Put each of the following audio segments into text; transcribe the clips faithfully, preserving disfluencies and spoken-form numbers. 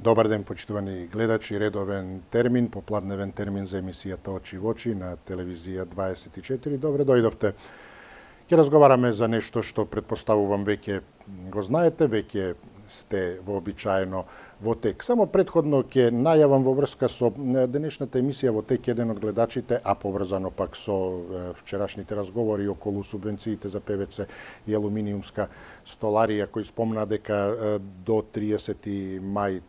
Добар ден, почитувани гледачи, редовен термин, попладневен термин за емисијата Очи во очи на телевизија дваесет и четири. Добре дојдовте. Ќе разговараме за нешто што предпоставувам веќе го знаете, веќе сте вообичаено во тек. Само предходно ќе најавам во врска со денешната емисија во тек еден од гледачите, а поврзано пак со вчерашните разговори околу субвенциите за ПВЦ и алуминиумска столарија, кој спомна дека до триесети мај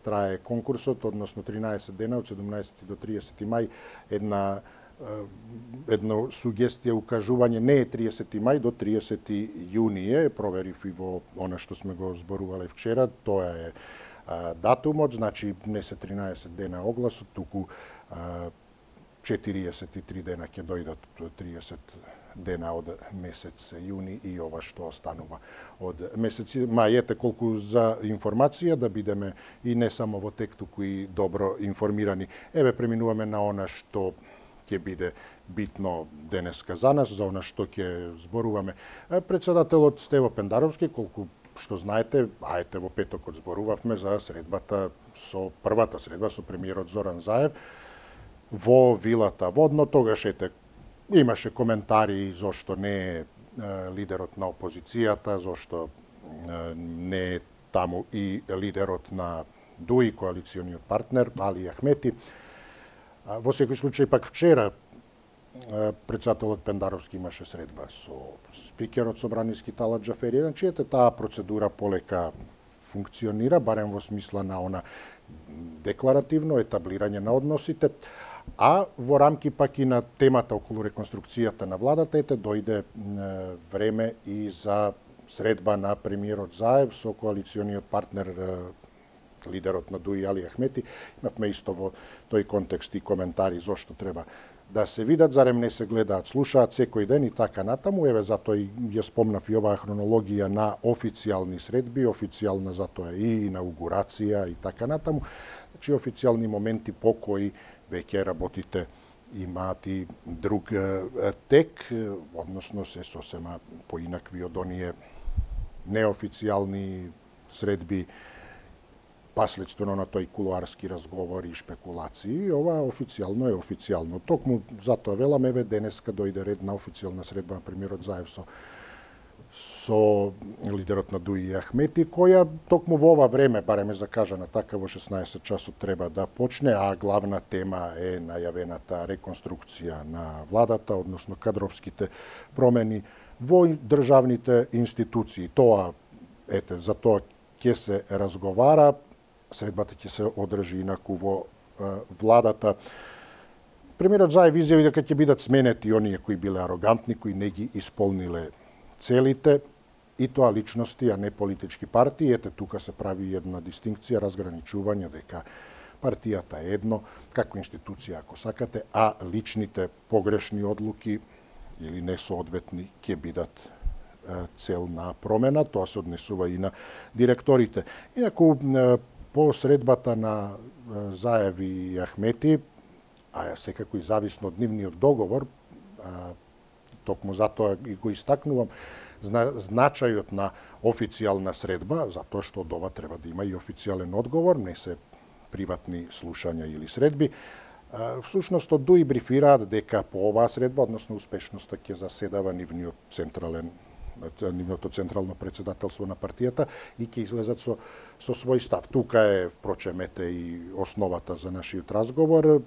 трае конкурсот, односно тринаесет дена, од седумнаесети до триесети мај, една едно сугестија, укажување, не е триесети мај, до триесети јуни е, проверив и во она што сме го зборувале вчера, тоа е а, датумот, значи не се тринаесет дена огласот, туку а, четириесет и три дена ќе дојдат, триесет дена од месец јуни и ова што останува од месец мај. Ете колку за информација да бидеме и не само во тек, туку и добро информирани. Еве преминуваме на она што ќе биде битно денеска за нас, за она што ќе зборуваме. Председателот Стево Пендаровски, колку што знаете, а ете во петокот зборувавме за средбата со првата средба со премиерот Зоран Заев во вилата Водно. Тогаш ете имаше коментари зошто не е лидерот на опозицијата, зошто не е таму и лидерот на ДУИ, коалициониот партнер Али Ахмети. Во секој случај пак вчера председателот Пендаровски имаше средба со спикерот Собраниски Талат Џафери, значи ете таа процедура полека функционира, барем во смисла на она декларативно етаблирање на односите, а во рамки пак и на темата околу реконструкцијата на владата, ете дојде време и за средба на премиерот Заев со коалициониот партнер лидерот на ДУИ Али Ахмети. Имавме исто во тој контекст и коментари зошто треба да се видат, зарем не се гледаат, слушаат секој ден и така натаму. Еве затоа и ја спомнав и оваа хронологија на официјални средби, официјална затоа и инаугурација и така натаму. Значи официјални моменти по кои веќе работите имаат и друг тек, односно се сосема поинакви од оние неофицијални средби, последствено на тој кулуарски разговор и шпекулации. Ова официјално е официјално. Токму затоа велам, еве денеска дојде ред на официјална средба на премиерот Заев со со лидерот на ДУИ Ахмети, која токму во ова време, барем е закажана така, во шеснаесет часот треба да почне, а главна тема е најавената реконструкција на владата, односно кадровските промени во државните институции. Тоа, ете, за тоа ќе се разговара, средбата ќе се одржи инаку во е, владата. Премиерот Заев изјави дека ќе бидат сменети оние кои биле арогантни, кои не ги исполниле целите, и тоа личности, а не политички партии. Ете, тука се прави една дистинкција, разграничување дека партијата е едно, како институција, ако сакате, а личните погрешни одлуки или несоодветни ќе бидат цел на промена. Тоа се однесува и на директорите. Инаку, по средбата на Заев и Ахмети, а секако и зависно од нивниот договор, токму затоа и го истакнувам, значајот на официјална средба, затоа што од ова треба да има и официјален одговор, не се приватни слушања или средби. Всушност, од ДУИ брифираат дека по оваа средба, односно успешноста, ќе заседава нивниот централен нивното централно председателство на партијата и ќе излезат со, со свој став. Тука е, впрочем, ете и основата за нашиот разговор.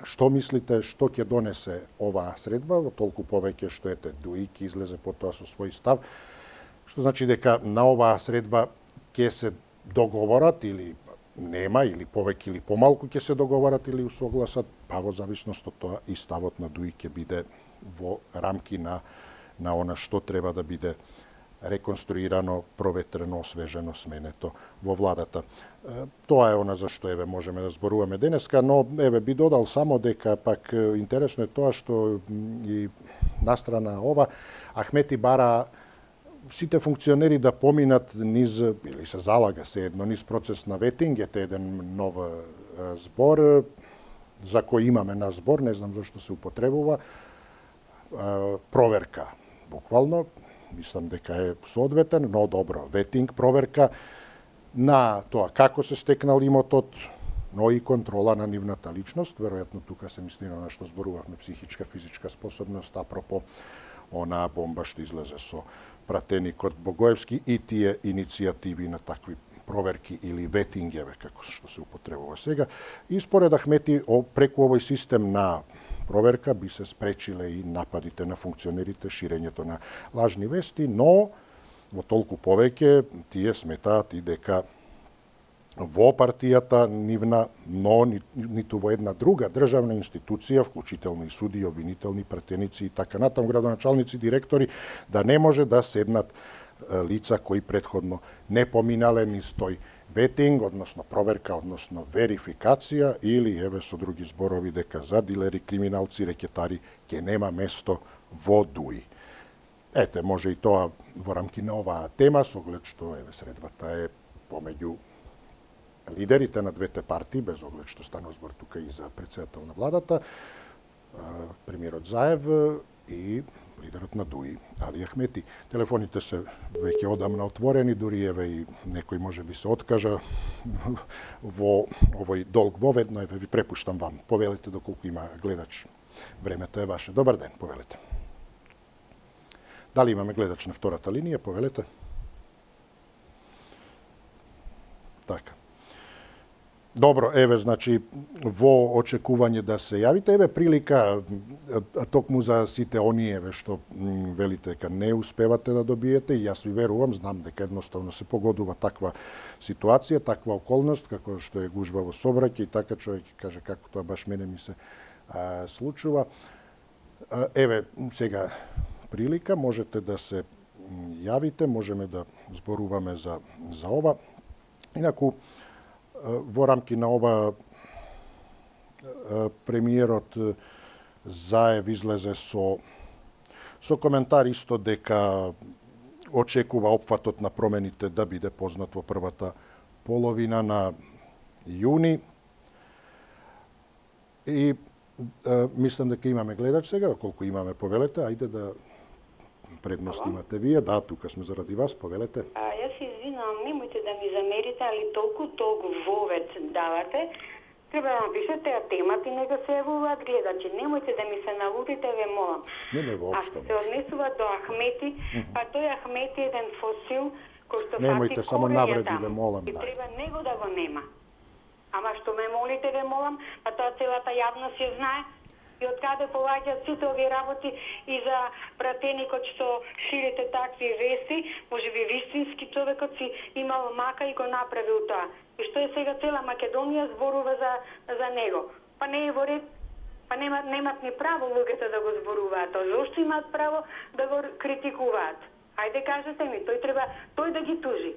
Што мислите, што ќе донесе оваа средба, во толку повеќе што ете ДУИ ќе излезе потоа со свој став, што значи дека на оваа средба ќе се договорат или нема, или повеќе или помалку ќе се договорат или усогласат, па во зависност од тоа и ставот на ДУИ ќе биде во рамки на на она што треба да биде реконструирано, проветрено, освежено, сменето во владата. Тоа е она за што еве можеме да зборуваме денеска, но еве би додал само дека пак интересно е тоа што и настрана ова Ахмети бара сите функционери да поминат низ, или се залага се едно, низ процес на ветинг, ете еден нов збор, за кој имаме на збор, не знам зашто се употребува, проверка. Буквално, мислам дека е соодветен, но добро, ветинг, проверка, на тоа како се стекнал имотот, но и контрола на нивната личност. Веројатно тука се мисли на што зборувавме, психичка, физичка способност, апропо онаа бомба што излезе со пратеникот Богоевски и тие иницијативи на такви проверки или ветингеве, како што се употребува сега. И според Ахмети, преку овој систем на проверка би се спречиле и нападите на функционерите, ширењето на лажни вести, но во толку повеќе тие сметаат и дека во партијата нивна, но ниту во една друга државна институција, вклучително и суди, обвинителни пратеници и така натаму, градоначалници, директори, да не може да седнат лица кои претходно не поминале низ тој ветинг, односно проверка, односно верификација, или еве со други зборови дека за дилери, криминалци, рекетари ќе нема место во ДУИ. Ете, може и тоа во рамки на оваа тема, со оглед што еве средбата е помеѓу лидерите на двете партии, без оглед што станува збор тука и за председател на владата, премиерот Заев и лидерот на ДУИ, Али Ахмети. Телефоните се веќе одамна отворени, дури еве и некој може би се откажа во овој долг воведно, еве ви препуштам вам. Повелете доколку има гледач. Времето е ваше. Добар ден, повелете. Дали имаме гледач на втората линија? Повелете. Така. Добро, еве, значи, во очекување да се јавите, еве прилика, токму за сите оние, еве, што велите дека не успевате да добиете, и јас ви верувам, знам дека едноставно се погодува таква ситуација, таква околност, како што е гужва во сообраќај, и така човек каже како тоа баш мене ми се а, случува. А, еве, сега прилика, можете да се јавите, можеме да зборуваме за, за ова. Инаку, во рамки на ова премиерот Заев излезе со со коментар исто дека очекува опфатот на промените да биде познат во првата половина на јуни. И а, мислам дека имаме гледач сега, колку имаме, повелете, ајде да предност имате вие. Да, тука сме заради вас, повелете. А, јас се извинувам, немојте да ми замерите, али толку толку вовец давате. Треба да напишете ја темата и нека се јавуваат гледачи. Немојте да ми се налутите, ве молам. Не, не, воопшто. А се однесува до Ахмети, па тој Ахмети е еден фосил кој што немојте, фати само навреди, корењата. ве молам, И да. треба него да го нема. Ама што ме молите, ве молам, па тоа целата јавност ја знае. И од каде поаѓаат сите овие работи и за пратеникот што ширите такви вести, може би вистински човекот си имал мака и го направил тоа. И што е сега цела Македонија зборува за, за него. Па не е во ред, па немат, немат ни право луѓето да го зборуваат, а зошто имаат право да го критикуваат? Ајде кажете ми, тој треба тој да ги тужи.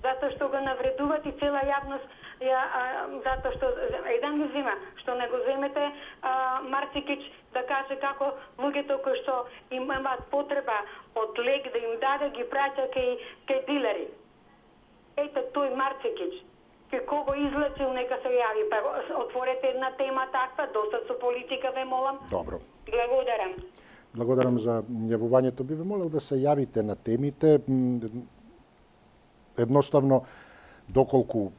Затоа што го навредуваат и цела јавност, ја, а, затоа што еден ги зима, што не го земете а, Марцикич да каже како луѓето кои што имаат потреба од лек да им даде, ги праќа кај, кај дилери. Ете тој Марцикич, кај кого излечил, нека се јави. Па отворете една тема таква, доста со политика, ве молам. Добро. Благодарам. Благодарам за јавувањето. Би ве молел да се јавите на темите. Едноставно, доколку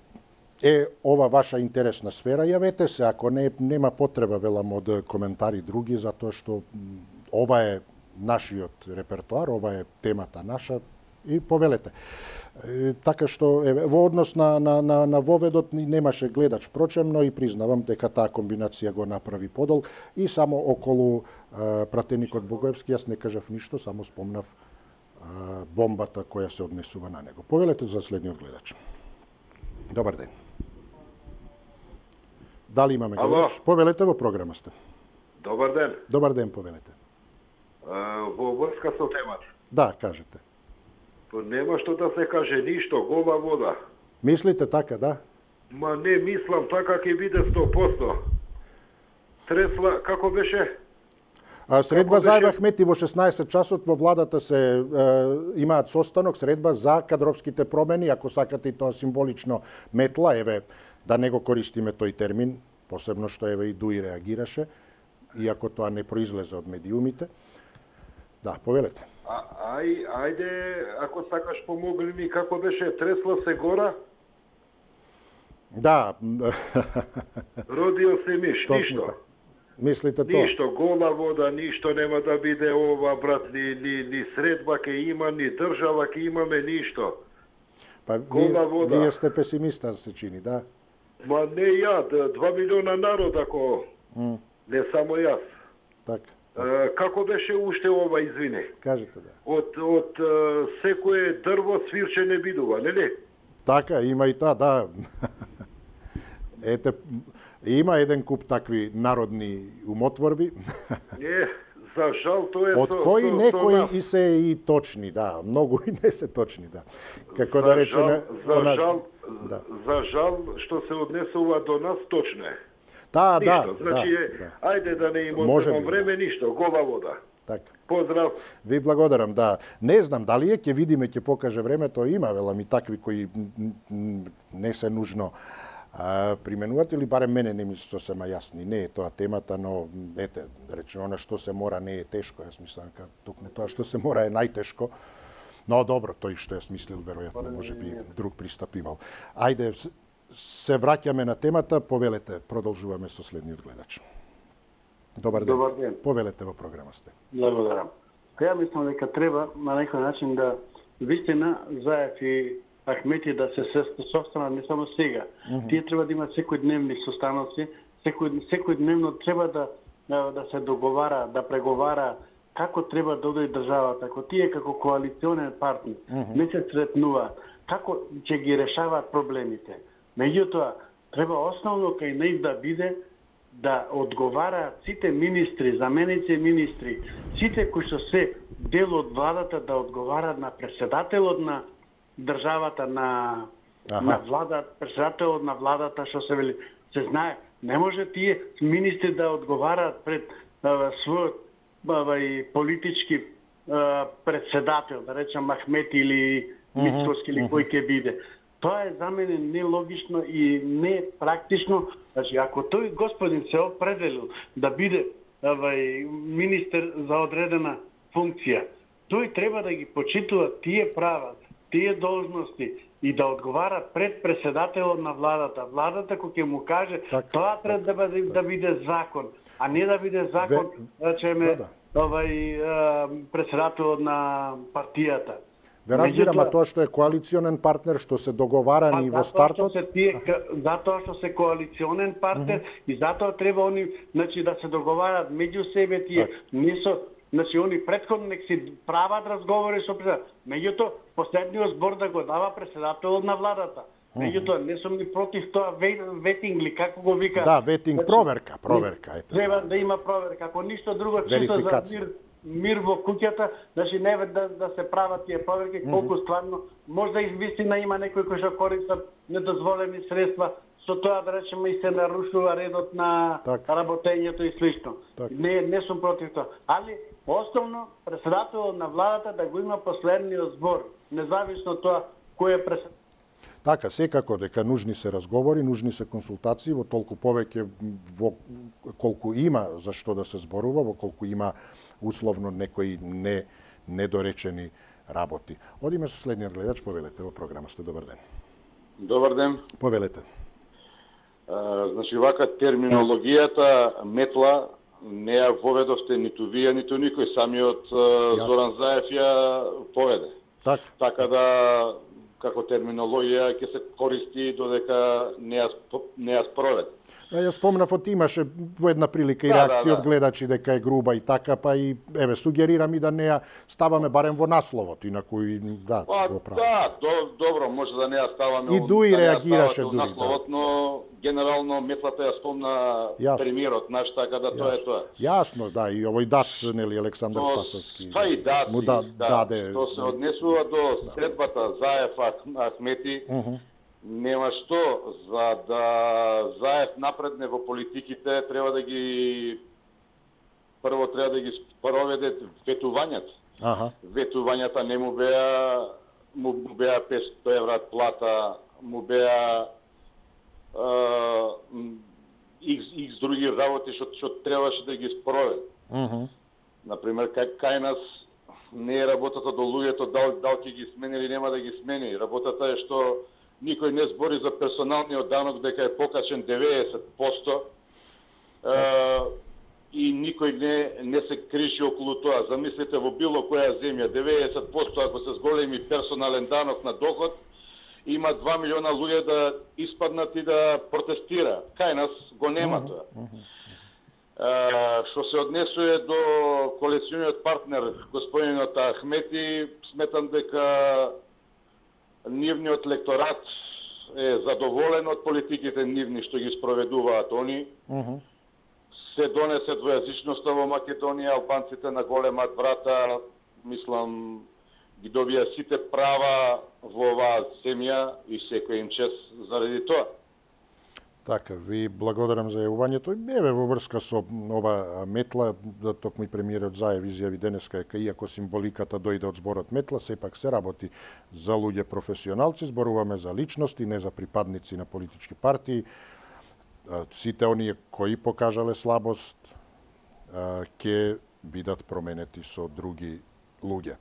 е ова ваша интересна сфера, јавете се. Ако не, нема потреба, велам, од коментари други, затоа што ова е нашиот репертуар, ова е темата наша, и повелете. E, така што е, во однос на, на, на, на воведот немаше гледач, впрочем, но и признавам дека таа комбинација го направи подол и само околу а, пратеникот Богоевски јас не кажав ништо, само спомнав а, бомбата која се однесува на него. Повелете за следниот гледач. Добар ден. Дали имаме гледач? Ало. Повелете, во програма сте. Добар ден. Добар ден, повелете. А, во врска со темата. Да, кажете. Па нема што да се каже ништо, гола вода. Мислите така, да? Ма не мислам, така ќе биде сто проценти. Тресла, како беше? А, средба Како за беше? Ахмети во шеснаесет часот во владата се е, имаат состанок, средба за кадровските промени, ако сакате и тоа символично метла, еве, да не го користиме тој термин, посебно што еве и ДУИ реагираше, иако тоа не произлезе од медиумите. Да, повелете. А, ај, ајде, ако сакаш помогни ми, како беше, тресла се гора? Да. Родио се миш, Точно ништо. така. Мислите тоа? Ништо, гола вода, ништо нема да биде ова, брат, ни, ни, ни средба ке има, ни држава ке имаме, ништо. Па Гола вие, вода. вие сте песимиста, се чини, да? Ма не ја, д- два милиона народ, ако М, не само јас. така, А, како беше уште ова, извини? кажете да. Од, од а, секое дрво свирче не бидува, нели? Така, има и та, да. Ете, има еден куп такви народни умотворби, Е, за жал, тоа е од со, кои со, со некои нас. и се и точни, да, многу и не се точни, да. Како За да речеме, жал, за она- жал, да. за жал што се однесува до нас точно е. Да, да, Ништо, значи да, е, да. ајде да не им Може одзема би, време, ништо, гола вода. Така. Поздрав. Ви благодарам, да. Не знам дали е, ќе видиме, ќе покаже времето, има велам и такви кои м, м, не се нужно а, применуваат, или барем мене не ми се сосема јасни. Не е тоа темата, но ете, да речеме, она што се мора не е тешко, јас мислам дека токму тоа што се мора е најтешко. Но добро, тој што јас мислил, веројатно, може би друг пристап имал. Ајде, с- се враќаме на темата, повелете, продолжуваме со следниот гледач. Добар ден. Добар ден. Повелете во програма сте. Благодарам. Ја мислам дека треба на некој начин да вистина Заев и Ахмети да се состанат не само сега. Mm -hmm. Тие треба да имат секојдневни состаноци, секој секојдневно треба да да се договара, да преговара како треба да оди државата, ако тие како коалиционен партнер mm -hmm. не се сретнуваат, како ќе ги решаваат проблемите. Меѓутоа, треба основно кај нив да биде да одговараат сите министри, заменици министри, сите кои што се дел од владата да одговараат на претседателот на државата, на Аха. на влада, претседателот на владата, што се вели, се знае, не може тие министри да одговараат пред а, својот а, и политички а, претседател, да речем Ахмет или Мицкоски или кој ќе биде. Тоа е за мене нелогично и не практично. Значи, ако тој господин се определил да биде авај, министер за одредена функција, тој треба да ги почитува тие права, тие должности и да одговара пред претседателот на владата. Владата кој ќе му каже, Так, тоа треба да биде, да биде закон, а не да биде закон, Ве- речеме, Да, да. овај а, претседателот на партијата. Ве разбирам, а Меѓутоа- тоа што е коалиционен партнер, што се договарани Па, во затоа што стартот, се тие, ка- затоа што се коалиционен партнер mm -hmm. и затоа треба они, значи, да се договарат меѓу себе тие, Так. не со, значи они претходно нек си прават разговори со председател. Меѓутоа последниот збор да го дава претседателот на владата. Меѓутоа не сум ни против тоа ве- ветинг ли како го вика. да, ветинг, Значи, проверка, проверка, ете. Треба да. да има проверка, ако ништо друго чисто за Верификација. мир, мир во куќата, значи не ве да, да се прават тие проверки, колку стварно, можда и вистина има некои кои што користат недозволени средства, со тоа да речеме и се нарушува редот на Така. работењето и слично. Така. Не, не сум против тоа. Али, основно, претседателот на владата да го има последниот збор, независно тоа кој е председател. Така, секако дека нужни се разговори, нужни се консултации, во толку повеќе во колку има за што да се зборува, во колку има условно некои не недоречени работи. Одиме со следниот гледач, повелете во програма сте, добар ден. Добар ден. Повелете. А, значи, вака терминологијата метла не ја воведовте ниту вие, ниту никој. Самиот а, Јасно. Зоран Заев ја поведе. Така, Така да, како терминологија ќе се користи додека не ја, сп- не ја спроведе. да, ја спомнав, од имаше во една прилика и Да, реакција да, да. од гледачи дека е груба и така, па и еве сугерирам и да не ја ставаме барем во насловот, инаку и да, Па, во право. да, до, добро, може да не ја ставаме... И у- Дуи да не ја реагираше ставате у дури, да. насловот, но генерално метлата ја спомна Јасно. премиерот наш, така да тоа е тоа. Јасно, да, и овој дац, нели, Александар Но, Спасовски. Па и да, му да, да, даде... што се однесува до средбата Заев Ах- Ахмети, нема што, за да Заев напредне во политиките, треба да ги прво треба да ги спроведе ветувањата. Аха, Ветувањата не му беа му, му беа петстотини евра плата, му беа а, м, икс, икс други работи што што требаше да ги спроведе. мгм, Например, кај, кај нас не е работата до луѓето дал, дал ќе ги смени или нема да ги смени. Работата е што никој не збори за персоналниот данок дека е покачен деветдесет проценти. Uh, и никој не, не се криши околу тоа. Замислете во било која земја, деветдесет проценти ако се зголеми персонален данок на доход, има два милиона луѓе да испаднат и да протестира. Кај нас го нема тоа. Uh, што се однесува до коалициониот партнер, господинот Ахмети, сметам дека нивниот лекторат е задоволен од политиките нивни што ги спроведуваат они. Uh-huh. Се донесе двојазичноста во Македонија, албанците на големат врата, мислам, ги добија сите права во оваа земја и секој им чест заради тоа. Така, ви благодарам за јавувањето. Еве во врска со ова метла, да токму и премиерот Заев изјави денеска дека иако символиката дојде од зборот метла, сепак се работи за луѓе професионалци, зборуваме за личности, не за припадници на политички партии. Сите оние кои покажале слабост ќе бидат променети со други луѓе.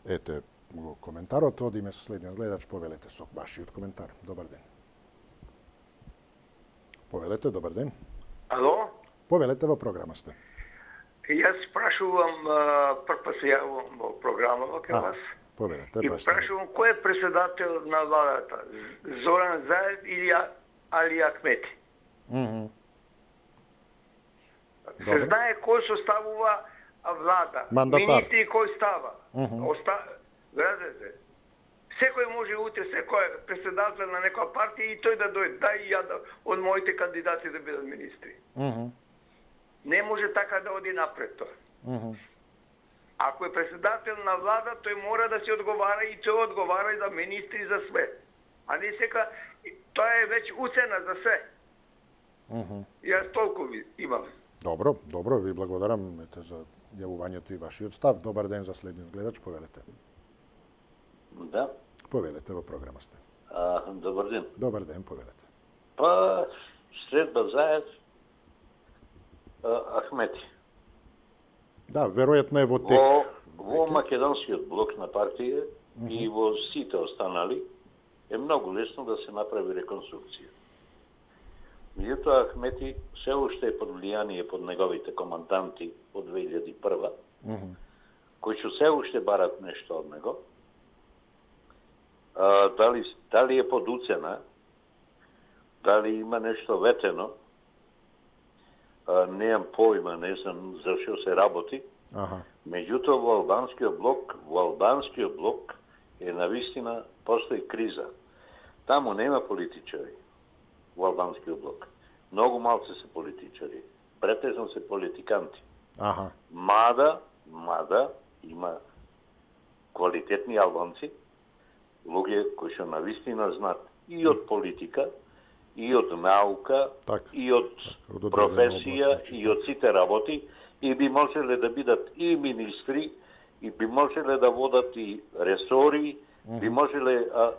Ете го коментарот, одиме со следниот гледач, повелете со вашиот коментар. Добар ден. Повелете, добар ден. Ало? Повелете, во програма сте. Јас прашувам, прв пат се јавувам во програмава кај вас. Повелете, и прашувам кој е председател на владата, Зоран Заев или Али Ахмети? Mm-hmm. Се знае кој составува влада, мандатар. Министри кој става. Mm-hmm. Оста... Градете. Секој може утре, секој е председател на некоја партија и тој да дојде, да и ја да, од моите кандидати да бидат министри. Mm-hmm. Не може така да оди напред тоа. Mm-hmm. Ако е председател на влада, тој мора да се одговара и тој одговара и за министри за све. А не сека, тоа е веќе уцена за све. Uh-huh. Јас толку ви имам. Добро, добро, ви благодарам ете, за јавувањето и вашиот став. Добар ден за следниот гледач, повелете. Да. Повелете, во програма сте. А, добар ден. Добар ден, повелете. Па, средба Заев, Ахмети. Да, веројатно е во тек. Во, во македонскиот блок на партија uh-huh. и во сите останали е многу лесно да се направи реконструкција. Меѓутоа, Ахмети се уште е под влијание под неговите команданти од две илјади и прва, uh-huh. кои што се уште барат нешто од него. А, дали, дали е под уцена, дали има нешто ветено, а, неам појма, не знам за што се работи. Ага. Меѓутоа, во албанскиот блок, во албанскиот блок е навистина постои криза. Таму нема политичари. Во албанскиот блок. Многу малце се политичари. Претежно се политиканти. Аха. Мада, мада има квалитетни албанци, луѓе кои што навистина знаат и од политика, и од наука, так, и од так, професија, област, и од сите работи, и би можеле да бидат и министри, и би можеле да водат и ресори, mm-hmm. би можеле, а,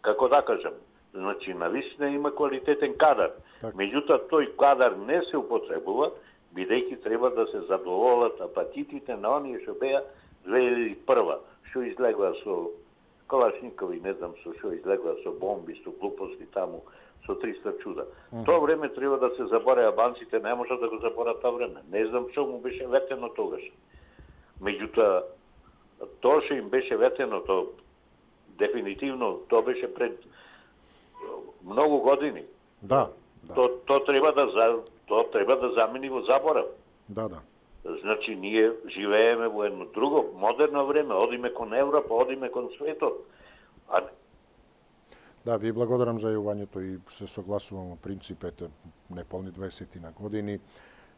како да кажам, значи, навистина има квалитетен кадар. Так. Меѓутоа, тој кадар не се употребува, бидејќи треба да се задоволат апатитите на оние што беа две илјади и прва, што излегла со Калашникови, не знам со што излегла, со бомби, со глупости таму, со триста чуда. Mm-hmm. Тоа време треба да се заборе, албанците не можат да го заборат тоа време. Не знам што му беше ветено тогаш. Меѓутоа, тоа што им беше ветено, тоа дефинитивно, тоа беше пред многу години. Да, да. То, то треба да за, то треба да замени во заборав. Да, да. Значи ние живееме во едно друго модерно време, одиме кон Европа, одиме кон светот. А... Да, ви благодарам за јавувањето и се согласувам во принципите неполни дваесет на години,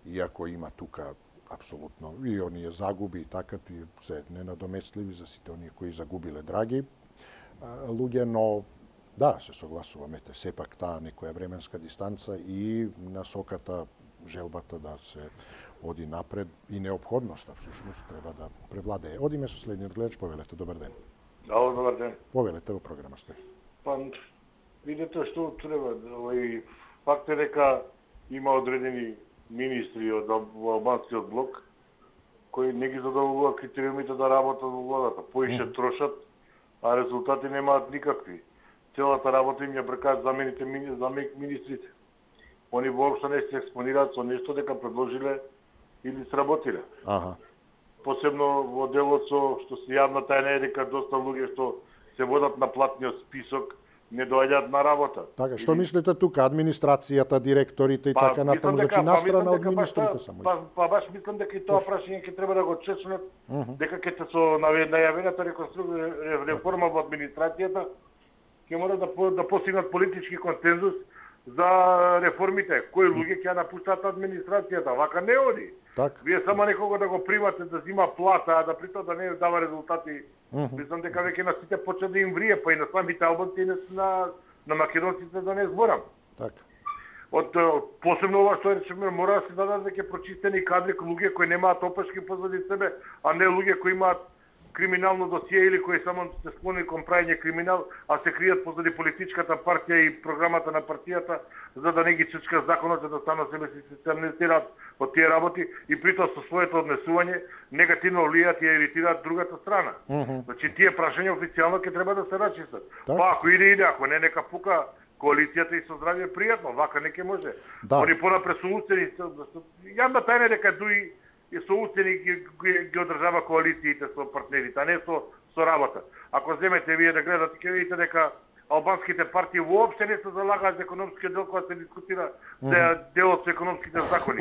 иако има тука апсолутно и оние загуби и така и се ненадоместливи за сите оние кои загубиле драги луѓе, но да, се согласувам, ете, сепак таа некоја временска дистанца и насоката, желбата да се оди напред и неопходноста, всушност, треба да превладее. Одиме со следниот гледач, повелете, добар ден. Ало, добар ден. Повелете, во програма сте. Па, видите што треба, овој факт е дека има одредени министри од албанскиот блок кои не ги задоволуваат критериумите да работат во владата, поише трошат, а резултати немаат никакви. целата работа им ја бркаат замените замек министрите. Они воопшто не се експонираат со нешто дека предложиле или сработиле. Аха. Посебно во делот со што се јавна тајна е дека доста луѓе што се водат на платниот список не доаѓаат на работа. Така, што или... мислите тука, администрацијата, директорите и па, така натаму, значи настрана од министрите само? Па, па баш мислам дека и тоа прашање ќе треба да го чечнат, uh -huh. дека ќе се со најавената реконструкција реформа во администрацијата ќе мора да да постигнат политички консензус за реформите. Кои луѓе ќе напуштат администрацијата, вака не оди. Так. Вие само некого да го примате да зима плата, а да притоа да не дава резултати. Uh -huh. Мислам дека веќе на сите почна да им врие, па и на самите албанци и на, на македонците да не зборам. Так. Од посебно ова што речеме, мора да се дадат веќе прочистени кадри, луѓе кои немаат опашки позади себе, а не луѓе кои имаат криминално досие или кои само се склони кон прајање криминал, а се кријат позади политичката партија и програмата на партијата, за да не ги чечка законот, за да станат себе си се амнестираат од тие работи и притоа со своето однесување негативно влијаат и иритираат другата страна. Uh -huh. Значи тие прашања официјално ќе треба да се рачистат. Так. Па ако иде иде, ако не нека пука коалицијата и со здравје пријатно, вака не ќе може. Да. Они понапред со уцени, јавна тајна е дека дуи и со уцени ги, ги, ги одржава коалициите со партнерите, а не со, со работа. Ако земете вие да гледате, ќе видите дека албанските партии воопште не се залагаат за економскиот дел кога се дискутира за mm -hmm. делот со економските закони.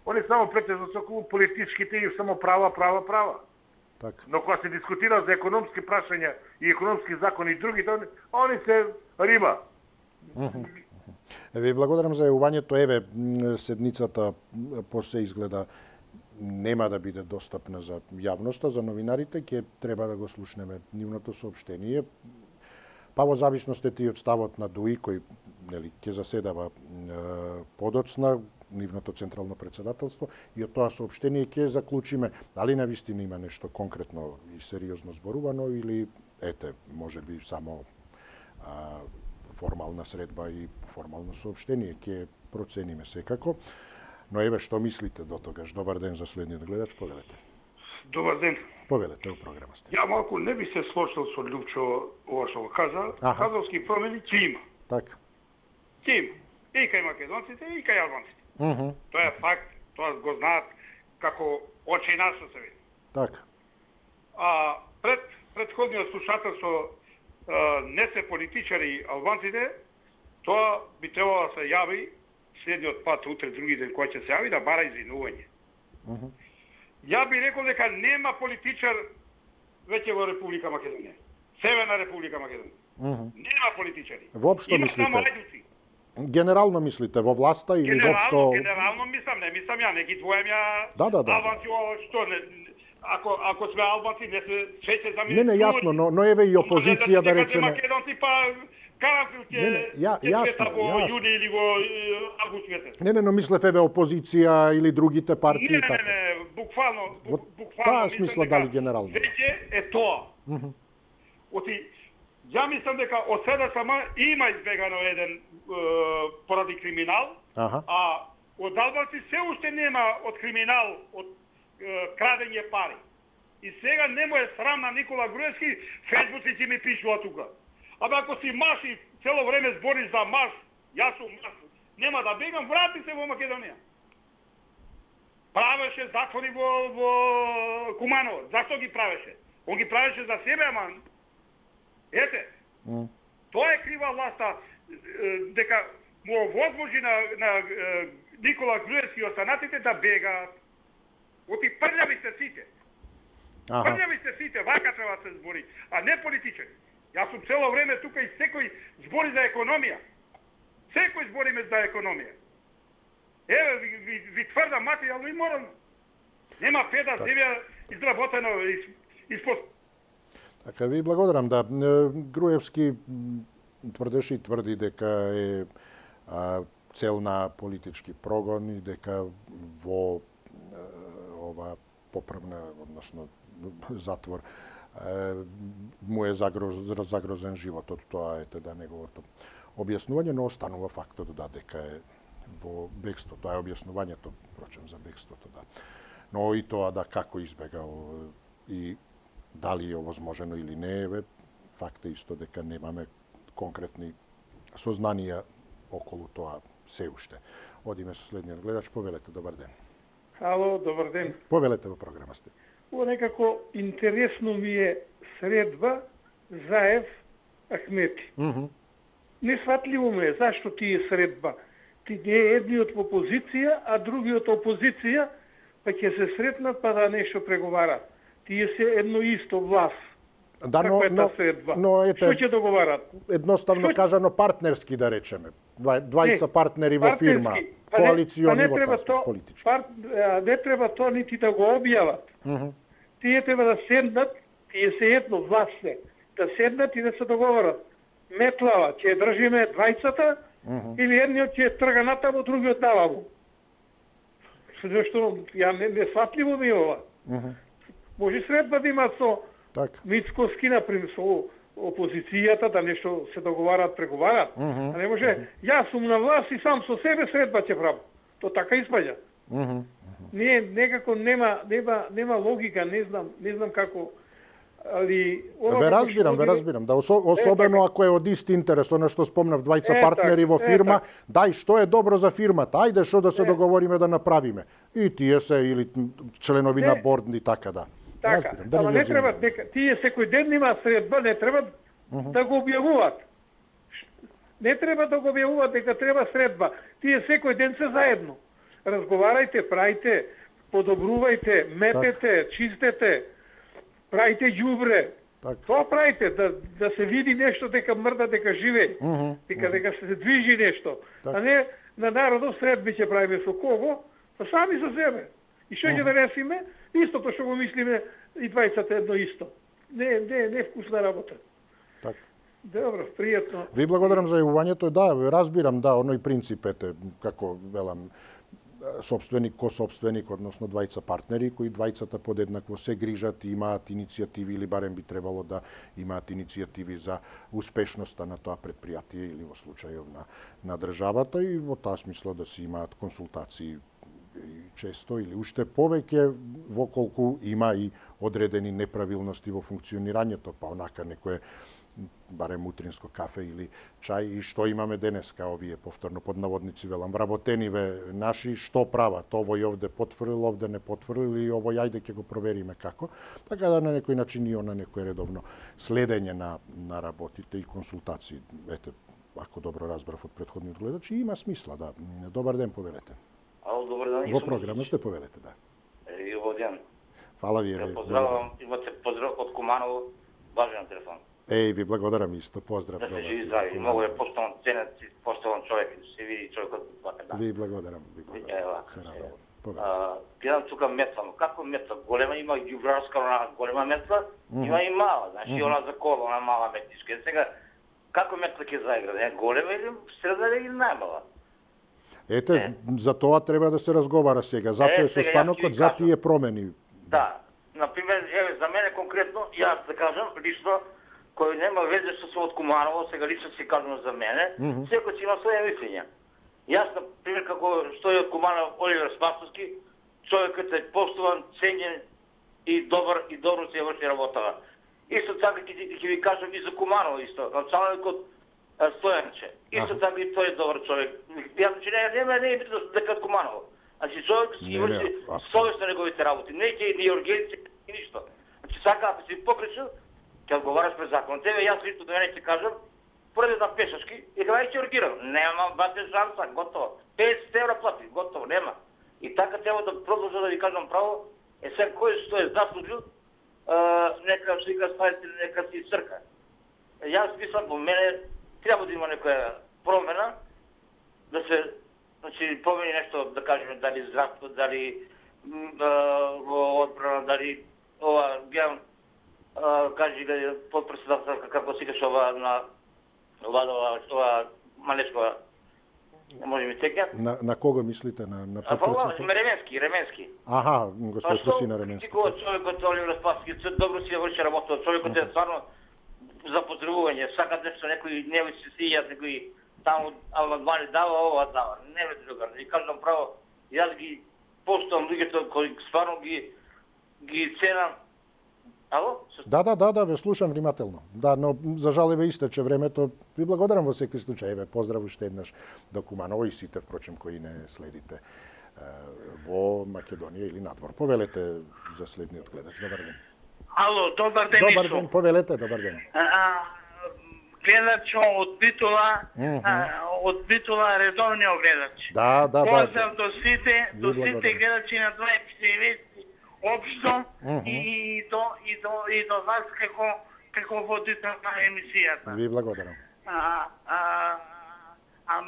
Они само претежно се околу политичките и само права, права, права. Так. Но кога се дискутира за економски прашања и економски закони и другите, они се риба. Mm -hmm. Ви благодарам за јавувањето. Еве, седницата после изгледа нема да биде достапна за јавноста, за новинарите, ќе треба да го слушнеме нивното соопштение. Па во зависност и од ставот на ДУИ, кој нели ќе заседава е, подоцна нивното централно председателство, и од тоа соопштение ќе заклучиме дали навистина има нешто конкретно и сериозно зборувано или ете, можеби само а, формална средба и формално соопштение. Ќе процениме секако. Но еве што мислите до тогаш? Добар ден за следниот гледач, повелете. Добар ден. Повелете, у програма сте. Ја малку не би се сложил со Љупчо ова што го каза. Кадровски промени ќе има. Така. Ќе има. И кај македонците, и кај албанците. Uh -huh. Тоа е факт, тоа го знаат како очи нас се види. Така. А пред претходниот слушател со не се политичари албанците, тоа би требало да се јави следниот пат, утре, други ден, кој ќе се јави, да бара извинување. Uh -huh. Ја би рекол дека нема политичар веќе во Република Македонија. Северна Република Македонија. Uh -huh. Нема политичари. Воопшто Има мислите? само ајдуци. Генерално мислите во власта или генерално, воопшто? Генерално мислам, не мислам ја, не ги двојам ја. Да, да, да. Албанци, што не, ако ако сме албанци, не се свеќе за Не, не, јасно, но но еве и опозиција да речеме. Македонци па Карафил ќе Не, не, ја, јасно, во јасно. јуни или во август месец. Не, не, но мислев еве опозиција или другите партии не, така. Не, не, не, буквално, Во буквално таа смисла дали генерално. Веќе е тоа. Uh -huh. Оти, ја мислам дека од седа сама има избегано еден е, поради криминал, Аха. а од албанци се уште нема од криминал, од е, крадење пари. И сега не му е срам на Никола Груевски, фејсбуците ми пишува тука. Абе ако си маш и цело време збориш за маш, јас сум маш, нема да бегам, врати се во Македонија. Правеше затвори во, во Куманово. Зашто ги правеше? Он ги правеше за себе, ама ете, Mm. тоа е крива власта, дека му овозможи на, на Никола Груевски и останатите да бегаат. Оти прљави сте сите. Аха. Прљави сте сите, вака треба да се збори, а не политичари. Јас сум цело време тука и секој збори за економија. Секој збориме за економија. Еве ви, ви, ви тврда материјално и морално. Нема педа земја изработено испод. Така, ви благодарам. Да, Груевски тврдеше и тврди дека е а, цел на политички прогон и дека во а, ова поправна, односно затвор, а, му е загроз, загрозен животот. Тоа е да неговото објаснување, но останува фактот да дека е во бегство. Тоа е објаснувањето, впрочем, за бегството, да. Но и тоа да како избегал и дали е овозможено или не, е факт е исто дека немаме конкретни сознанија околу тоа се уште. Одиме со следниот гледач, повелете, добар ден. Ало, добар ден. Повелете, во програма сте. Ово некако интересно ми е средба Заев Ахмети. Mm -hmm. Несватливо ми е зашто тие средба. Ти не е едниот во позиција, а другиот опозиција, па ќе се сретнат па да нешто преговарат. Тие се едно исто власт. Да, но, но, но ете, што ќе договарат? Едноставно што... кажано партнерски, да речеме. Двајца партнери во фирма, па коалициони па во таа политички. Пар, не треба тоа нити да го објават. Mm -hmm. Тие треба да седнат, тие се едно власт се, да седнат и да се договорат. Метлава, ќе држиме двајцата, mm -hmm. или едниот ќе трга натаму, другиот наваму. Зашто ја не, не сватливо ми ова. Mm -hmm. Може средба да имат со так. Мицковски, например, со опозицијата, да нешто се договарат, преговарат. Mm -hmm. А не може, mm -hmm. јас сум на власт и сам со себе средба ќе правам. То така испаѓа. Mm -hmm. Не, некако нема, нема, нема логика, не знам, не знам како, али... Ве разбирам, ве разбирам. Да, осо, особено е, ако е од ист интерес, она што спомнав, двајца е, партнери так, во фирма, е, дај што е добро за фирмата, ајде што да се е. договориме да направиме. И тие се, или членови е. на борд, и така да. Така, разбирам, да ама не треба, дека, тие секој ден има средба, не треба uh -huh. да го објавуваат. Не треба да го објавуваат дека треба средба. Тие секој ден се заедно. Разговарајте, прајте, подобрувајте, метете, так. чистете, прајте ѓубре. Так. Тоа прајте, да, да се види нешто, дека мрда, дека живее, uh -huh. дека, uh -huh. дека се движи нешто. Так. А не на народот средби ќе правиме со кого, па сами со себе. И што ќе uh -huh. да ресиме? Истото што го мислиме и двајцата едно исто. Не, не, не вкусна работа. Так. Добро, пријатно. Ви благодарам за јавувањето. Да, разбирам, да, оној принцип, ете, како велам, собственик ко собственик, односно двајца партнери, кои двајцата подеднакво се грижат и имаат иницијативи, или барем би требало да имаат иницијативи за успешноста на тоа предпријатие или во случајов на, на државата, и во таа смисло да се имаат консултации често или уште повеќе воколку има и одредени неправилности во функционирањето, па онака некое барем утринско кафе или чај, и што имаме денеска овие, повторно под наводници велам, вработениве наши, што прават, овој овде потврдил, овде не потврдил, и овој ајде ќе го провериме како, така да на некој начин и на некој редовно следење на, на работите и консултации. Ете, ако добро разбрав од претходниот гледач, има смисла, да. Добар ден, повелете. Ало, добар ден. Во програма сте, повелете, да. И во ден. Фала ви, еве. Поздравувам, имате поздрав од Куманово, важен телефон. Еј, ви благодарам исто, поздрав. Да се живи здрави, многу е поштован, ценет, поштован човек, се види човекот така да. Ви благодарам, ви благодарам. Се радувам. Гледам тука метла, но како метла? Голема има ѓубрарска, она голема метла, има и мала, значи она за кола, она мала метишка. Сега како метла ќе заигра? Не голема или средна или најмала? Ете, за тоа треба да се разговара сега. Затоа е состанокот, за тие промени. Да. Например, еве за мене конкретно, јас да кажам, лично кој нема везе што сум од Куманово, сега лично си кажам за мене, mm -hmm. секој си има своја мислења. Јас, например, како што е од Куманово Оливер Спасовски, човекот е поштован, ценен и добар и добро се врши работава. Исто така ќе ви кажам и за Куманово исто, началникот Стојанче. Исто така и тој е добар човек. Јас че не нема не е битно дека од Куманово. Значи човек си врши совесно неговите работи, не ќе ни организација и ништо. Значи сака ако си покришил, ќе одговараш пред закон. Тебе јас лично до мене ќе кажам, поред на пешачки, и кога ќе ургирам, нема бате шанса, готово. петдесет евра плати, готово, нема. И така треба да продолжам да ви кажам право, е сега кој што е заслужил, нека си го ставите, нека си црка. Јас мислам, по мене треба да има некоја промена, да се, значи, промени нешто, да кажеме, дали здравство, дали во одбрана, дали ова, гледам, кажи да подпредседателка како си каш ова на ова ова ова Малечкова. Може ми тека? На на кого мислите, на на подпредседател? Ременски, Ременски. Аха, господ Русина Ременски. Кој човекот Оливер Спасовски добро си врши работа, човекот е стварно за поздравување, сака нешто некој не ви се сијат, некој таму амандмани дава, ова дава. Не ме другар, и кажам право, јас ги поштувам луѓето кои стварно ги ги ценам Ало? Да, да, да, да, ве слушам внимателно. Да, но за жал еве истече времето. Ви благодарам во секој случај. Еве поздрав уште еднаш до Куманово и сите впрочем кои не следите во Македонија или надвор. Повелете за следниот гледач. Добар ден. Ало, добар ден. Добар ден, повелете, добар ден. А, гледач од Битола, mm -hmm. а, од Битола редовниот гледач. Да, да, да. Поздрав до сите, до сите гледачи на дваесет и девет општо mm -hmm. и до и до и до вас како како водител на емисијата. Ви благодарам. А, а, а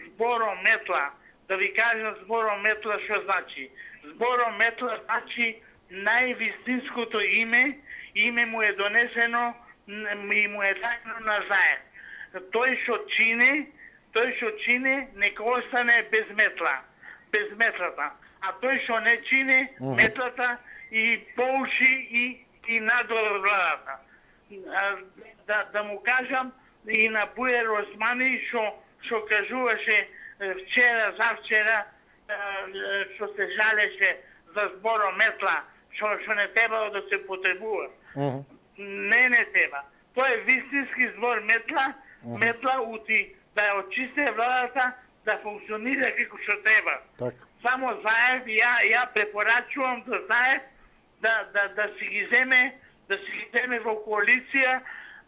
збором метла, да ви кажам збором метла што значи. Збором метла значи највистинското име, име му е донесено и му е дадено на заед. Тој што чини, тој што чини, нека остане без метла, без метлата. А тој што не чини mm. метлата и поуши и, и надолу владата. Да, да му кажам и на Буер Османи што што кажуваше вчера, завчера, што се жалеше за збором метла, што што не требало да се потребува. Mm -hmm. Не, не треба. Тоа е вистински збор метла, mm -hmm. метла ути да ја очисте владата, да функционира како што треба. Так. Само заед, ја, ја препорачувам да заед да, да, да си ги земе, да си ги земе во коалиција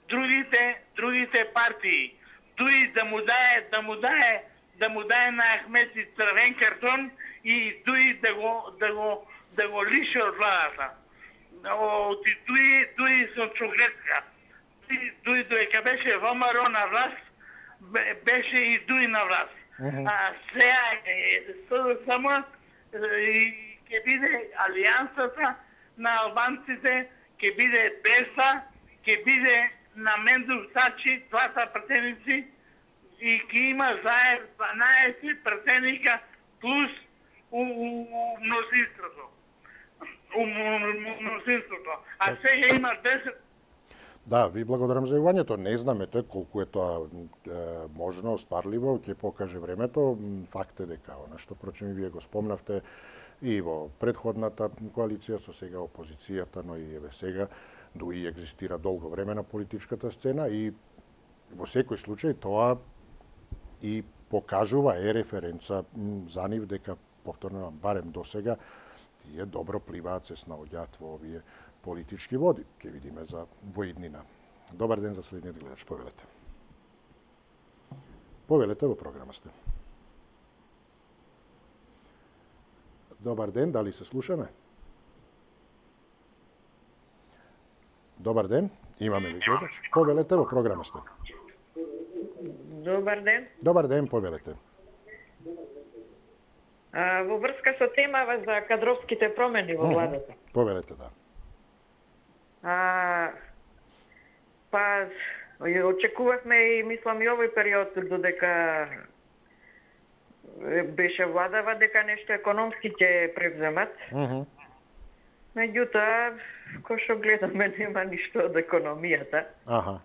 другите, другите партии. Дуи да му дае, да му дае, да му дае на Ахмети црвен картон и дуи да го, да го, да го лише од владата. Оти дуи, дуи со чуглетка. Дуи, дуи доека беше ВМРО на власт, беше и дуи на власт. Uh -huh. А сега е само ќе биде алијансата на албанците, ќе биде Беса, ќе биде на Мендув Сачи, двата пратеници, и ќе има заед дванаесет пратеника плюс у, у, у мнозинството. У мнозинството. А сега има десет. Да, ви благодарам за јавањето. Не знам ете колку е тоа е, можно, остварливо, ќе покаже времето. Факт е дека она што прочем и вие го спомнавте и во предходната коалиција со сега опозицијата, но и еве сега дуи екзистира долго време на политичката сцена и во секој случај тоа и покажува е референца за нив дека повторно барем до сега тие добро пливаат, се снаоѓаат во овие политички води. Ке видиме за воиднина. Добар ден за следниот гледач. Повелете. Повелете, во програма сте. Добар ден, дали се слушаме? Добар ден, имаме ли гледач? Повелете, во програма сте. Добар ден. Добар ден, повелете. А, во врска со темава за кадровските промени во владата. Повелете, да. А, па, очекувавме и, мислам, и овој период додека беше владава, дека нешто економски ќе превземат. Uh -huh. Меѓутоа, кој што гледаме, нема ништо од економијата. Uh -huh.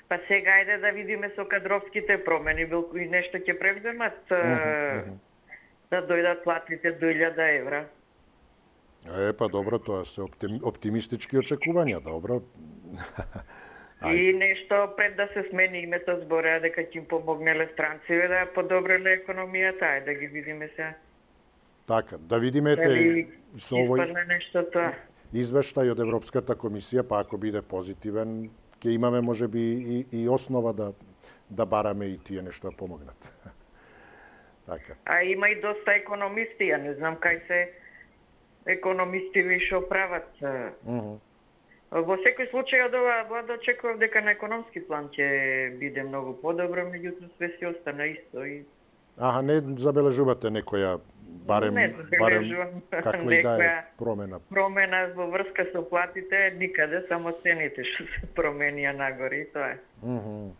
Па сега ајде да видиме со кадровските промени, билку и нешто ќе превземат, uh -huh. да дојдат платите до илјада евра. Е, па добро, тоа се оптим, оптимистички очекувања, добро. И нешто пред да се смени името збореа дека ќе им помогнеле странците да подобреле економијата, ајде да ги видиме сега. Така, да видиме те со овој нешто тоа. Извештај од Европската комисија, па ако биде позитивен, ќе имаме можеби и, и основа да да бараме и тие нешто да помогнат. Така. А има и доста економисти, ја не знам кај се економисти вишо прават. Uh -huh. Во секој случај од ова влада очекував дека на економски план ќе биде многу подобро, меѓутоа све си остана исто и Аха, не забележувате некоја барем не барем каква и да е промена. Промена во врска со платите никаде, само цените што се променија нагоре и тоа е. Uh -huh.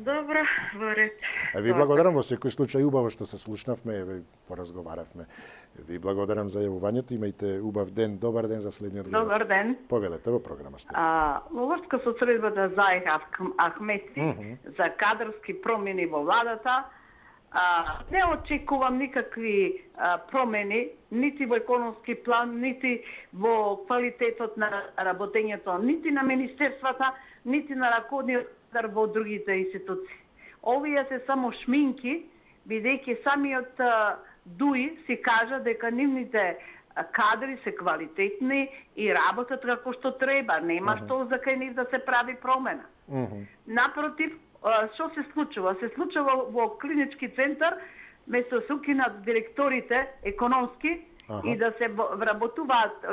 Добро, во ред. А ви благодарам во секој случај, убаво што се слушнавме, еве поразговаравме. Ви благодарам за јавувањето, имајте убав ден, добар ден за следниот гледач. Добар ден. Повелете во програма сте. А, во врска со средбата Заех Ахмети mm -hmm. за кадрски промени во владата, А, не очекувам никакви а, промени, нити во економски план, нити во квалитетот на работењето, нити на министерствата, нити на раководниот кадар во другите институции. Овие се само шминки, бидејќи самиот а, ДУИ си кажа дека нивните кадри се квалитетни и работат како што треба. Нема uh-huh. што за кај нив да се прави промена. Uh-huh. Напротив, што се случува? Се случува во клинички центар, место се укинат директорите економски uh-huh. и да се вработуваат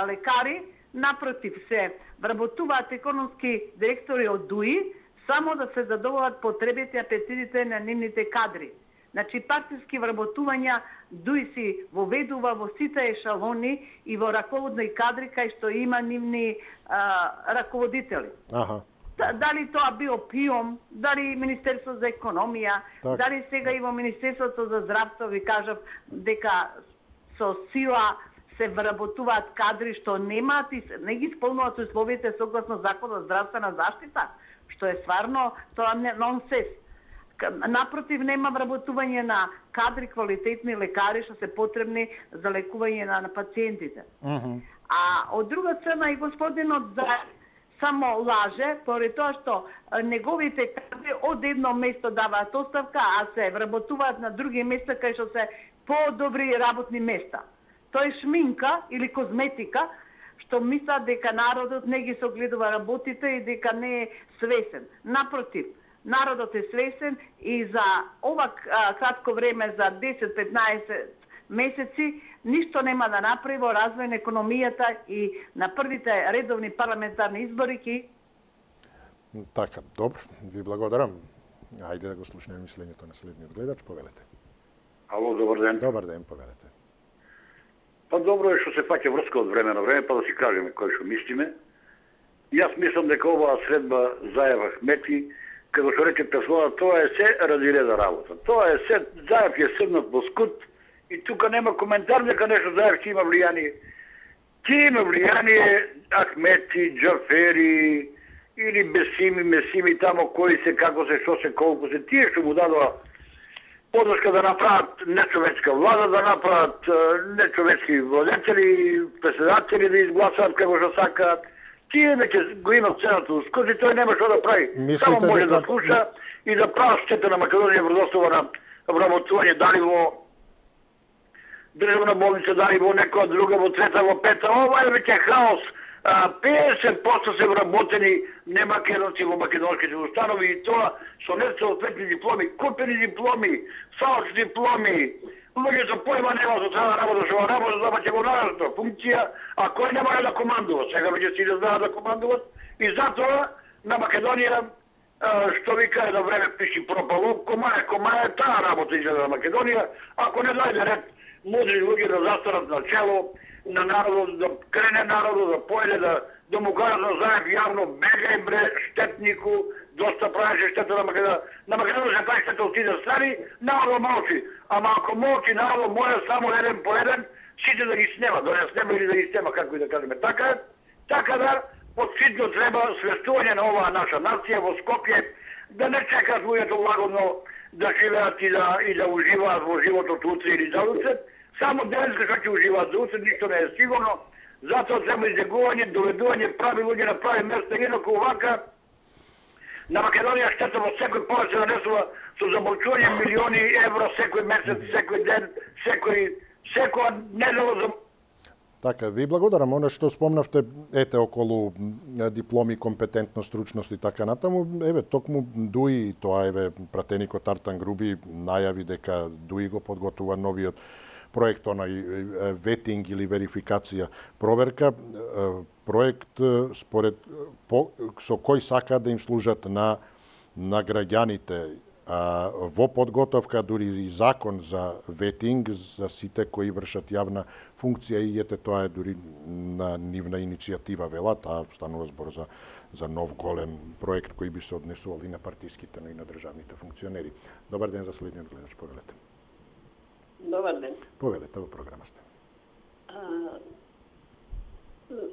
лекари, напротив се вработуваат економски директори од ДУИ, само да се задоволат потребите и апетитите на нивните кадри. Значи, партиски вработувања ДУИ си воведува во сите ешалони и во раководни кадри кај што има нивни а, раководители. Аха. Дали тоа био ПИОМ, дали Министерство за економија, так. Дали сега и во Министерството за здравство, ви кажав дека со сила се вработуваат кадри што немаат и не ги исполнуваат условите согласно Законот за здравствена заштита, што е стварно тоа не нонсенс. Напротив, нема вработување на кадри, квалитетни лекари што се потребни за лекување на, на пациентите. Uh-huh. А од друга страна и господинот за само лаже, поради тоа што неговите кадри од едно место даваат оставка, а се вработуваат на други места кај што се по-добри работни места. Тоа е шминка или козметика, што мислат дека народот не ги согледува работите и дека не е свесен. Напротив, народот е свесен и за ова кратко време, за десет-петнаесет месеци, ништо нема да направи во развој на економијата и на првите редовни парламентарни избори ки... Така, добро, ви благодарам. Ајде да го слушнеме мислењето на следниот гледач, повелете. Ало, добар ден. Добар ден, повелете. Па добро е што се фаќа врска од време на време, па да си кажеме кој што мислиме. Јас мислам дека оваа средба Заев Ахмети, како што рече Песлова, тоа е се ради реда работа. Тоа е се, Заев е седнат во скут и тука нема коментар дека нешто Заев ќе има влијание. Ќе има влијание Ахмети, Џафери или Бесими, Месими, тамо кои се, како се, што се, колку се, тие што му дадоа подршка да направат нечовечка влада, да направат нечовечки владетели, председатели да изгласаат како што сакаат. Тие веќе го имат цената ускози, тој нема што да прави. Мислите Само може дека... да слуша и да прави штета на Македонија вродостава на вработување, дали во државна болница, дали во некоја друга, во трета, во пета. Ова е веќе хаос. петдесет проценти се вработени немакедонци во македонските установи и тоа со несоодветни дипломи, купени дипломи, фалш дипломи. Луѓе со појма нема со цела работа, што работа да ќе го нараста функција, а кој не може да командува. Сега веќе си да знаат да командуват и затоа на Македонија, што вика едно време пиши пропало, кома е, кома е таа работа изгледа на Македонија, ако не дојде ред мудри луѓе да застанат на чело на народот, да крене народот, да појде, да, да му кажат на Заев јавно, бегај бре, штетнику, доста правеше штета на Македонија. На Македонија се прави штета од тие страни, народот молчи. Ама ако молчи народот може само еден по еден, сите да ги снема, да не снема или да ги снема, како и да кажеме. Така, така да, подситно треба свестување на оваа наша нација во Скопје, да не чекат луѓето лагодно да живеат и да, и да уживаат во животот утре или за утре. Само денеска што ќе уживаат за утре, ништо не е сигурно. Затоа треба излегување, доведување прави луѓе на прави места, инаку овака на Македонија штета во секој повеќе нанесува со замолчување милиони евро секој месец, секој ден, секој секоја недела за... Така, ви благодарам. Оно што спомнавте, ете, околу дипломи, компетентност, стручност и така натаму, еве, токму ДУИ, тоа еве, пратеникот Артан Груби најави дека ДУИ го подготвува новиот проект, онај ветинг или верификација проверка, проект според по, со кој сака да им служат на на граѓаните. А, во подготовка дури и закон за ветинг за сите кои вршат јавна функција и ете тоа е дури на нивна иницијатива вела, таа станува збор за за нов голем проект кој би се однесувал и на партиските, но и на државните функционери. Добар ден за следниот гледач, повелете. Добар ден. Повелете, во програма сте. А,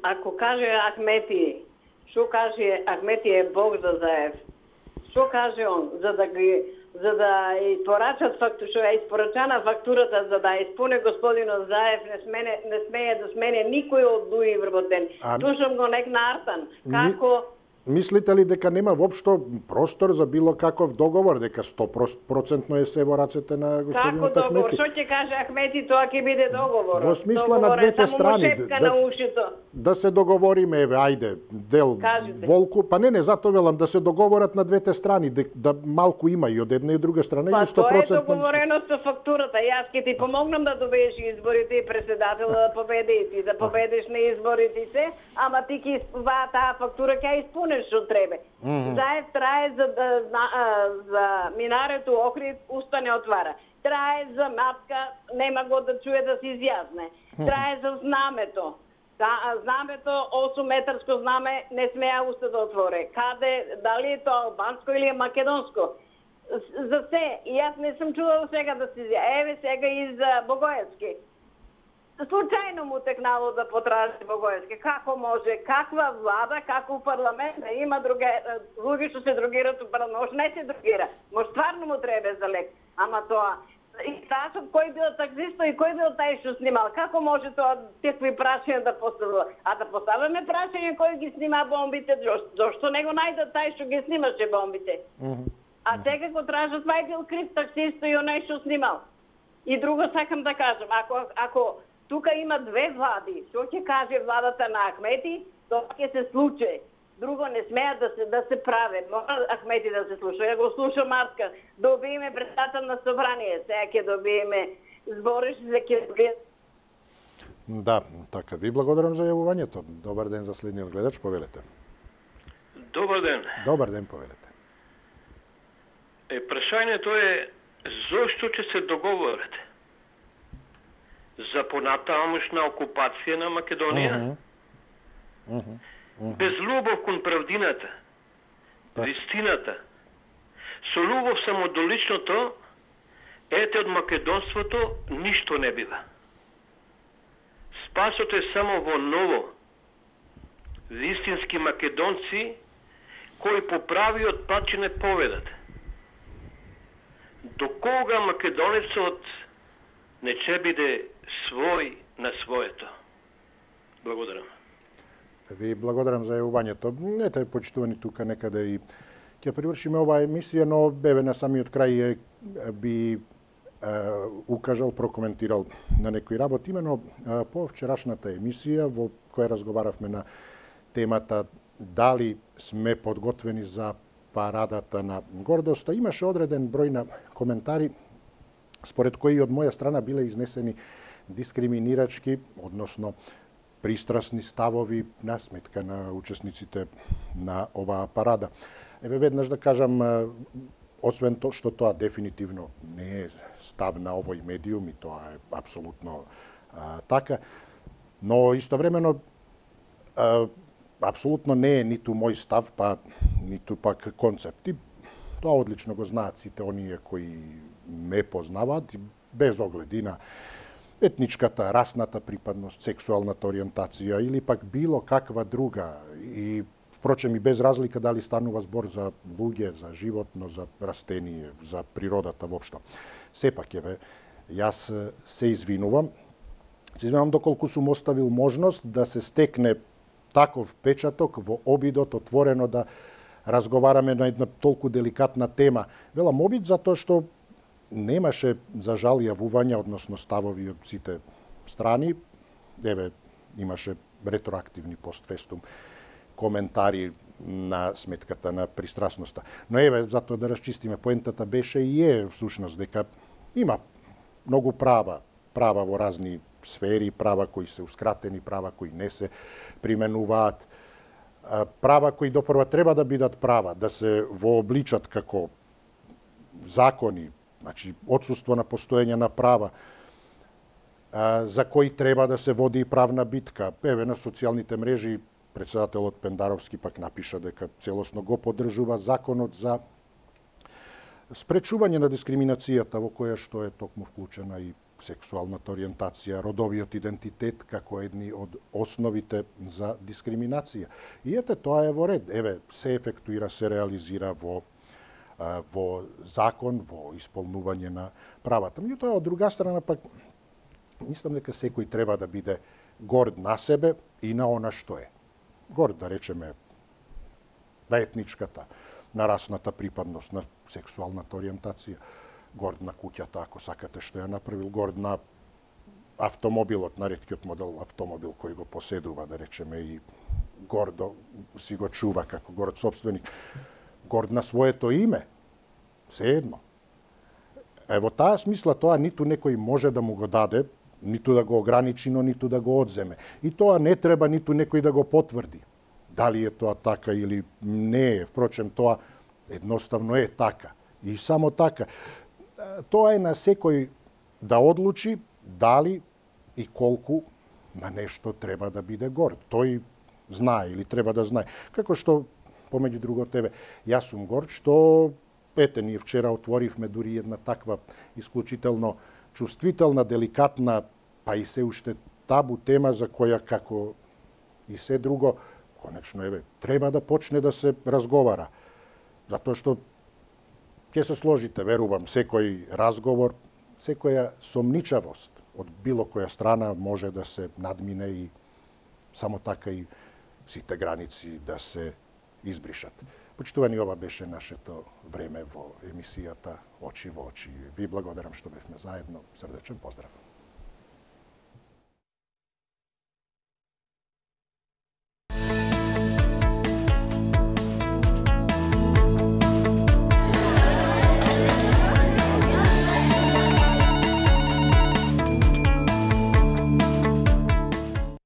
ако каже Ахмети, што каже Ахмети е Бог за Заев, што каже он, за да ги за да испорачат фактура, што е испорачана фактурата за да исполни господинот Заев, не смене не смее да смене никој од дуи вработен. Слушам го нек наартан. Како Мислите ли дека нема воопшто простор за било каков договор, дека сто проценти е се во рацете на господинот Ахмети? Како договор? Ахмети? Што ќе каже Ахмети, тоа ќе биде договор. Во смисла на двете страни. Да, да се договориме, еве, ајде, дел Кажете. Волку, па не, не, затоа велам, да се договорат на двете страни, да, да малку има и од една и друга страна, па, или сто проценти. Тоа е договорено со фактурата. Јас ќе ти помогнам да добиеш изборите и председател да победи и ти, да победиш на изборите се, ама ти ќе таа фактура ќе исполниш што треба. Мгм. Заев трае за да а, за минарето Охрид уста не отвара. Трае за матка, нема го да чуе да се изјасне. Трае за знамето. Да, знамето, осум метарско знаме, не смеа уста да отворе. Каде, дали е тоа албанско или е македонско? За се, и јас не сум чувала сега да се изјасне. Еве сега и за Богоевски. Случајно му текнало да потражи Богоевски. Како може, каква влада, како парламент да има друге луѓе што се другираат у парламент, може не се другира. Може стварно му треба за лек. Ама тоа и ташот кој бил таксиста и кој бил тај што снимал. Како може тоа такви прашања да поставува? А да поставаме прашање кој ги снима бомбите, зошто не го најдат тај што ги снимаше бомбите? А сега го тражат, вај бил крив таксиста и оној што снимал. И друго сакам да кажам, ако ако тука има две влади, што ќе каже владата на Ахмети, тоа ќе се случи. Друго не смеат да се да се праве. Мора Ахмети да се слуша. Ја го слуша Марска. Добиеме председател на собрание, сега ќе добиеме збориш за ќе добиеме. Да, така. Ви благодарам за јавувањето. Добар ден за следниот гледач, повелете. Добар ден. Добар ден, повелете. Е, прашањето е зошто ќе се договорите за понатамошна окупација на Македонија? Uh -huh. Uh -huh. Без љубов кон правдината, вистината, со љубов само до личното, ете од македонството ништо не бива. Спасот е само во ново. Вистински македонци кои по правиот пат ќе не поведат. До кога македонецот не ќе биде свој на своето? Благодарам. Ви благодарам за јавувањето. Ете, почитувани тука некаде и ќе привршиме оваа емисија, но бебе на самиот крај би е, укажал, прокоментирал на некои работи. Имено е, по вчерашната емисија во која разговаравме на темата дали сме подготвени за парадата на гордоста, имаше одреден број на коментари според кои од моја страна биле изнесени дискриминирачки, односно пристрасни ставови на сметка на учесниците на оваа парада. Еве веднаш да кажам, освен тоа што тоа дефинитивно не е став на овој медиум и тоа е апсолутно а, така, но истовремено а, апсолутно не е ниту мој став, па ниту пак концепти. Тоа одлично го знаат сите оние кои ме познаваат, без огледи на етничката, расната припадност, сексуалната ориентација или пак било каква друга. И впрочем и без разлика дали станува збор за луѓе, за животно, за растение, за природата воопшто. Сепак еве, јас се извинувам. Се извинувам доколку сум оставил можност да се стекне таков печаток во обидот отворено да разговараме на една толку деликатна тема. Велам обид затоа што немаше, за жал, јавувања, односно ставови од сите страни. Еве, имаше ретроактивни постфестум коментари на сметката на пристрасноста. Но еве, затоа да расчистиме, поентата беше и е всушност дека има многу права, права во разни сфери, права кои се ускратени, права кои не се применуваат, права кои допрва треба да бидат права, да се вообличат како закони, значи отсуство на постоење на права, а, за кои треба да се води и правна битка. Еве на социјалните мрежи председателот Пендаровски пак напиша дека целосно го поддржува законот за спречување на дискриминацијата во која што е токму вклучена и сексуалната ориентација, родовиот идентитет како едни од основите за дискриминација. И ете, тоа е во ред. Еве, се ефектуира, се реализира во во закон, во исполнување на правата. Меѓутоа, од друга страна, пак, мислам дека секој треба да биде горд на себе и на она што е. Горд, да речеме, на етничката, на расната припадност, на сексуалната ориентација, горд на куќата, ако сакате, што ја направил, горд на автомобилот, на реткиот модел автомобил кој го поседува, да речеме, и гордо си го чува како горд собственик, горд на своето име, се едно. Е, во таа смисла тоа ниту некој може да му го даде, ниту да го ограничи, но ниту да го одземе. И тоа не треба ниту некој да го потврди. Дали е тоа така или не е, впрочем, тоа едноставно е така. И само така. Тоа е на секој да одлучи дали и колку на нешто треба да биде горд. Тој знае или треба да знае. Како што, помеѓу друго тебе, јас сум горд што, ете, ние вчера отворивме дури една таква исклучително чувствителна, деликатна, па и се уште табу тема за која, како и се друго, конечно, еве, треба да почне да се разговара. Затоа што ќе се сложите, верувам, секој разговор, секоја сомничавост од било која страна може да се надмине и само така и сите граници да се избришат. Почитувани, ова беше нашето време во емисијата Очи во очи. Ви благодарам што бевме заедно. Срдечен поздрав.